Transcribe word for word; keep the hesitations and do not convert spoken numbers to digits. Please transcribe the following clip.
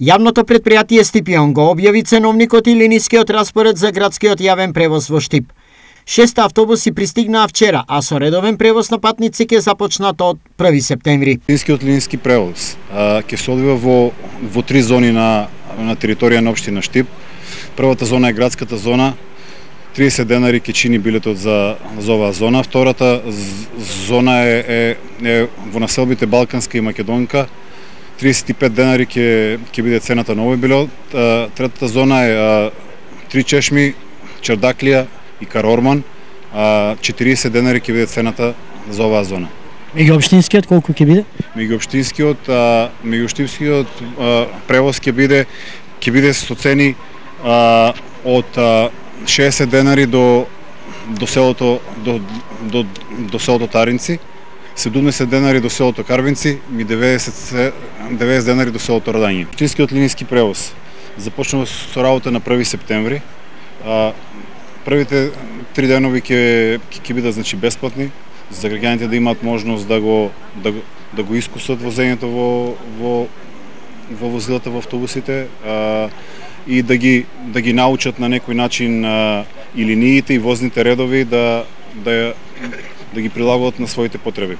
Јавното претпријатие Стипион го објави ценовникот и линискиот распоред за градскиот јавен превоз во Штип. Шест автобуси пристигнаа вчера, а со редовен превоз на патници ќе започнат од први септември. Линискиот линиски превоз ќе се одвива во во три зони на на територија на општина Штип. Првата зона е градската зона. триесет денари ќе чини билетот за за оваа зона. Втората зона е, е, е во населбите Балканска и Македонка. триесет и пет денари ќе ќе биде цената на овој билет. Третата зона е Три чешми, Чардаклија и Карорман. четириесет денари ќе биде цената за оваа зона. Меѓуопштинскиот колку ќе биде? Меѓуопштинскиот, меѓуопштинскиот превоз ќе биде ќе биде со цени а, од а, шеесет денари до до селото до до до селото Таринци, седумдесет денари до селото Карвинци и деветдесет денари до селото Радање. Општинскиот линиски превоз започнува со работа на први септември. А, првите три денови ќе ќе бидат значи бесплатни за граѓаните да имаат можност да го да, да го искусат возењето во во во возилата во автобусите а, и да ги да ги научат на некој начин а, и линиите и возните редови да да да ги прилагодат на своите потреби.